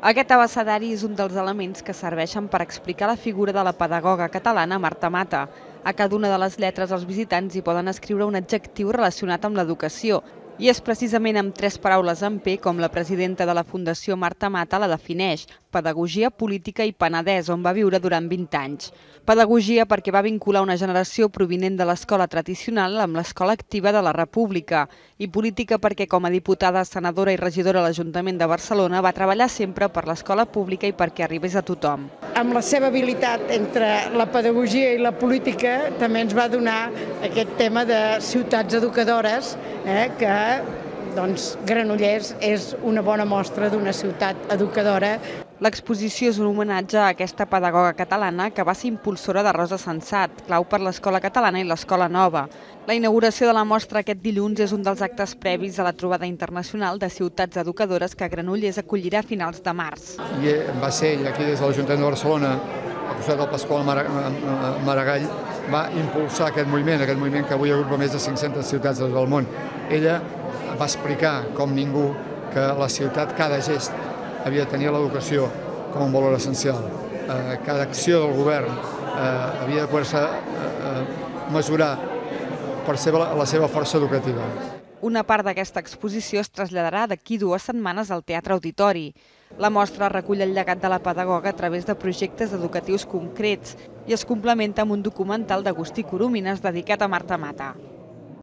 Aquest abecedari és un dels elements que serveixen per explicar la figura de la pedagoga catalana Marta Mata. A cada una de les lletres els visitants hi poden escriure un adjectiu relacionat amb l'educació, i és precisament amb 3 paraules en P com la presidenta de la Fundació Marta Mata la defineix: pedagogia, política i Penedès, on va viure durant 20 anys. Pedagogia perquè va vincular una generació provinent de l'escola tradicional amb l'escola activa de la República, i política perquè com a diputada, senadora i regidora a l'Ajuntament de Barcelona va treballar sempre per l'escola pública i perquè arribés a tothom. Amb la seva habilitat entre la pedagogia i la política també ens va donar aquest tema de ciutats educadores, que Granollers és una bona mostra d'una ciutat educadora. L'exposició és un homenatge a aquesta pedagoga catalana que va ser impulsora de Rosa Sensat, clau per l'Escola Catalana i l'Escola Nova. La inauguració de la mostra aquest dilluns és un dels actes previs a la trobada internacional de ciutats educadores que Granollers acollirà a finals de març. I va ser ell aquí des de l'Ajuntament de Barcelona, al costat del Pasqual Maragall, va impulsar aquest moviment que avui agrupa més de 500 ciutats del món. Ella va explicar com ningú que la ciutat, cada gest, havia de tenir l'educació com un valor essencial. Cada acció del govern havia de poder-se mesurar per la seva força educativa. Una part d'aquesta exposició es traslladarà d'aquí 2 setmanes al Teatre Auditori. La mostra recull el llegat de la pedagoga a través de projectes educatius concrets i es complementa amb un documental d'Agustí Coromines dedicat a Marta Mata.